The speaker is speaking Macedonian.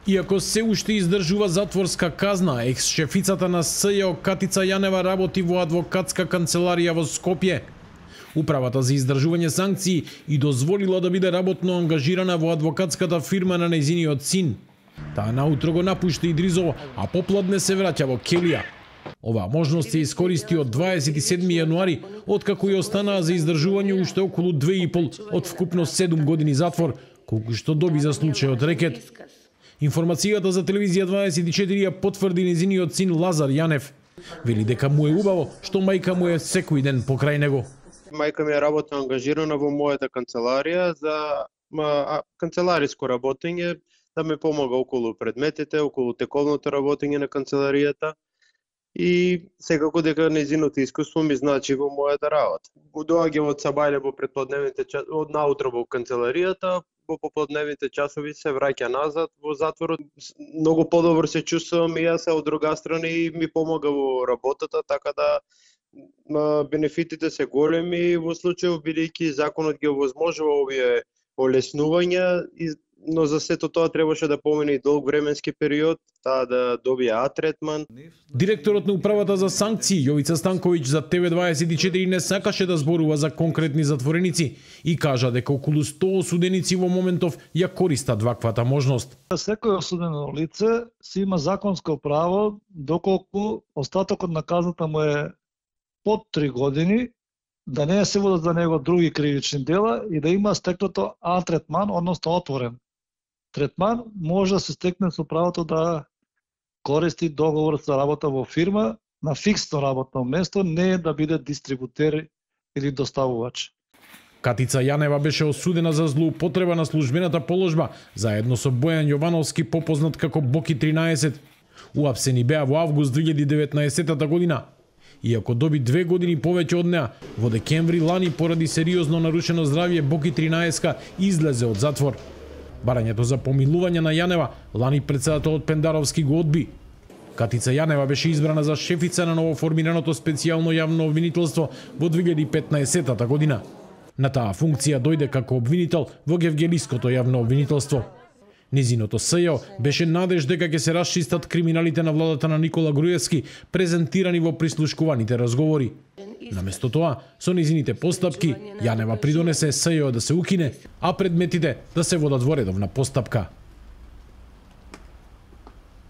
Иако се уште издржува затворска казна, екс-шефицата на СЈО Катица Јанева работи во адвокатска канцеларија во Скопје. Управата за издржување санкции и дозволила да биде работно ангажирана во адвокатската фирма на нејзиниот син. Таа наутро го напушта Идризово, а попладне се враќа во Келија. Оваа можност се искористи од 27 јануари, откако ја останаа за издржување уште околу 2,5 од вкупно 7 години затвор, колку што доби за случајот рекет. Информацијата за телевизија 24 ја потврди нејзиниот син Лазар Јанев. Вели дека му е убаво што мајка му е секој ден покрај него. Мајка ми е работно ангажирана во мојата канцеларија за канцелариско работење, да ме помага околу предметите, околу тековното работење на канцеларијата. И секако дека нејзиното искуство ми значи во мојата работа. Доаѓам од сабајле во предпладневните од наутро во канцеларијата, во попладневните часови се враќа назад во затворот. Многу подобро се чувствувам и јас, од друга страна и ми помага во работата, така да бенефитите се големи во случај бидејќи законот ги овозможува овие олеснувања, но за сето тоа требаше да помине и долг временски период, таа да добие А-третман. Директорот на управата за санкции Јовица Станковиќ за ТВ24 не сакаше да зборува за конкретни затвореници и кажа дека околу 100 осуденици во моментов ја користат ваквата можност. Секој осудено лице си има законско право, доколку остатокот на казната му е под 3 години, да не се водат за него други кривични дела и да има стекнато А-третман, односно отворен третман, може да се стекне со правото да користи договор за работа во фирма на фиксно работно место, не да биде дистрибутер или доставувач. Катица Јанева беше осудена за злоупотреба на службената положба, заедно со Бојан Јовановски, попознат како Боки 13. Уапсени беа во август 2019 година. Иако доби 2 години повеќе од неа, во декември лани поради сериозно нарушено здравје Боки 13 излезе од затвор. Барањето за помилување на Јанева лани претседателот Пендаровски го одби. Катица Јанева беше избрана за шефица на новоформираното специјално јавно обвинителство во 2015 година. На таа функција дојде како обвинител во Гевгелиското јавно обвинителство. Низиното СЈО беше надеж дека ќе се расчистат криминалите на владата на Никола Груевски, презентирани во прислушкуваните разговори. Наместо тоа, со низините постапки, Јанева придонесе СЈО да се укине, а предметите да се водат во редовна постапка.